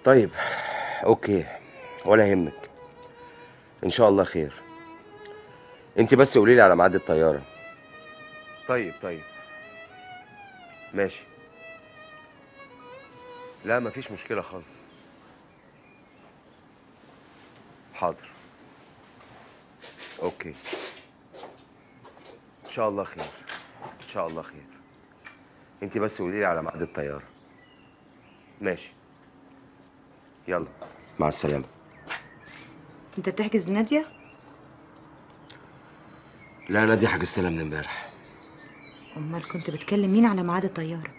طيب اوكي، ولا يهمك، ان شاء الله خير. انت بس قولي لي على ميعاد الطياره. طيب ماشي. لا مفيش مشكله خالص. حاضر. اوكي ان شاء الله خير، ان شاء الله خير. انت بس قولي لي على ميعاد الطياره. ماشي، يلا مع السلامه. انت بتحجز ناديه؟ لا ناديه حجزت لها من امبارح. امال كنت بتكلم مين على ميعاد الطياره؟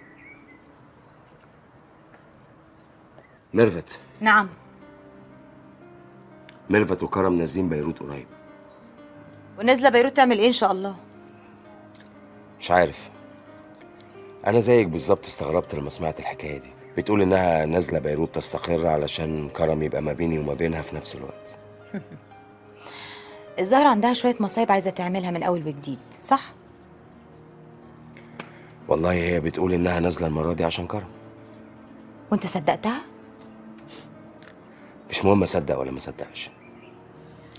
ميرفت. نعم. ميرفت وكرم نازلين بيروت قريب. ونازله بيروت تعمل ايه ان شاء الله؟ مش عارف، انا زيك بالظبط استغربت لما سمعت الحكايه دي. بتقول انها نازله بيروت تستقر علشان كرم يبقى ما بيني وما بينها في نفس الوقت. الظاهر عندها شويه مصايب عايزه تعملها من اول وجديد، صح؟ والله هي بتقول انها نازله المره دي عشان كرم. وانت صدقتها؟ مش مهم اصدق ولا ما اصدقش،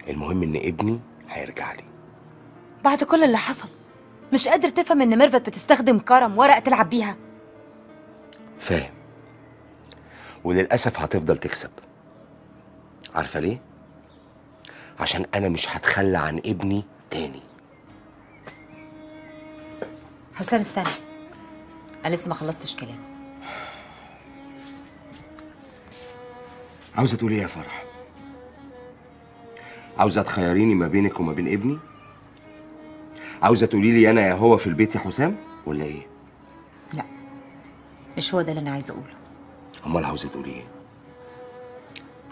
المهم ان ابني هيرجع لي. بعد كل اللي حصل مش قادر تفهم ان ميرفت بتستخدم كرم ورقه تلعب بيها؟ فاهم، وللاسف هتفضل تكسب. عارفه ليه؟ عشان انا مش هتخلى عن ابني تاني. حسام استنى، انا لسه ما خلصتش كلام. عاوزه تقولي ايه يا فرح؟ عاوزه تخيريني ما بينك وما بين ابني؟ عاوزه تقولي لي انا يا هو في البيت يا حسام ولا ايه؟ لا مش هو ده اللي انا عايزه اقوله. امال عاوزه تقولي ايه؟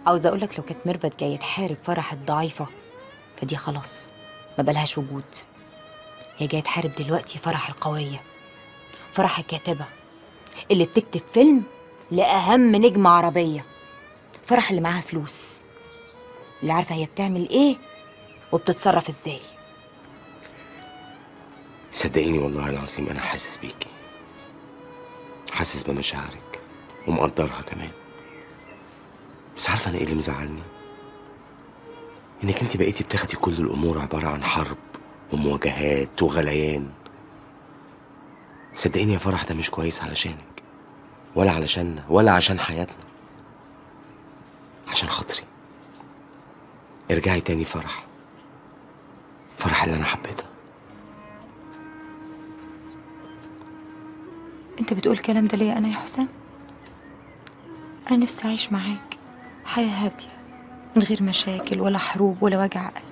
عاوزه اقول لك لو كانت ميرفت جايه تحارب فرح الضعيفه فدي خلاص ما بلهاش وجود. هي جايه تحارب دلوقتي فرح القويه، فرح الكاتبه اللي بتكتب فيلم لاهم نجمه عربيه، فرح اللي معاها فلوس، اللي عارفه هي بتعمل ايه وبتتصرف ازاي. صدقيني والله العظيم انا حاسس بيكي، حاسس بمشاعرك ومقدرها كمان. بس عارفه انا ايه اللي مزعلني؟ انك انت بقيتي بتاخدي كل الامور عباره عن حرب ومواجهات وغليان. صدقيني يا فرح ده مش كويس علشانك ولا علشاننا ولا عشان حياتنا. عشان خاطري ارجعي تاني فرح، فرح اللي انا حبيتها. انت بتقول الكلام ده ليه انا يا حسام؟ انا نفسي اعيش معاك حياه هاديه من غير مشاكل ولا حروب ولا وجع قلب.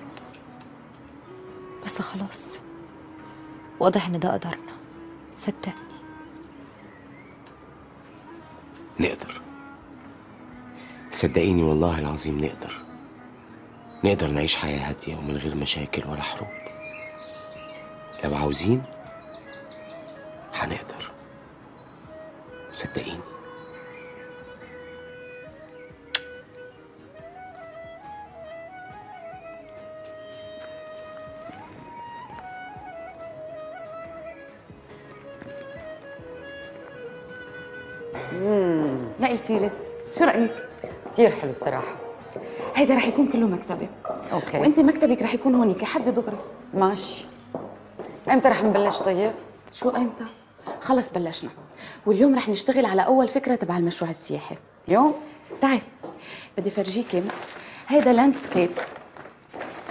بس خلاص واضح ان ده قدرنا، صدقني. نقدر، صدقيني والله العظيم نقدر نعيش حياة هادية ومن غير مشاكل ولا حروب. لو عاوزين هنقدر، صدقيني. ما قلتي لي شو رايك؟ كثير حلو صراحه. هيدا رح يكون كله مكتبي. اوكي. وانت مكتبك رح يكون هونيك حد دغري. ماشي. امتى رح نبلش طيب؟ شو امتى؟ خلص بلشنا، واليوم رح نشتغل على اول فكره تبع المشروع السياحي. يوم؟ تعي بدي فرجيكي، هيدا لاندسكيب،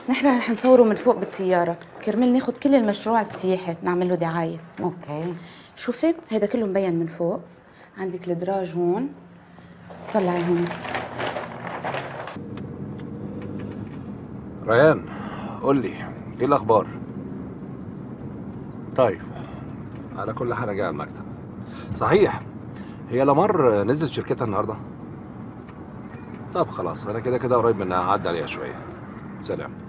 نحن رح نصوره من فوق بالطياره كرمال ناخد كل المشروع السياحي نعمل له دعايه. اوكي. شوفي هيدا كله مبين من فوق، عندك الدراج هون، طلعي هون. ريان قول لي ايه الاخبار؟ طيب على كل حال جاي على المكتب. صحيح هي لمار نزلت شركتها النهارده؟ طب خلاص انا كده قريب منها، هعدي عليها شويه. سلام.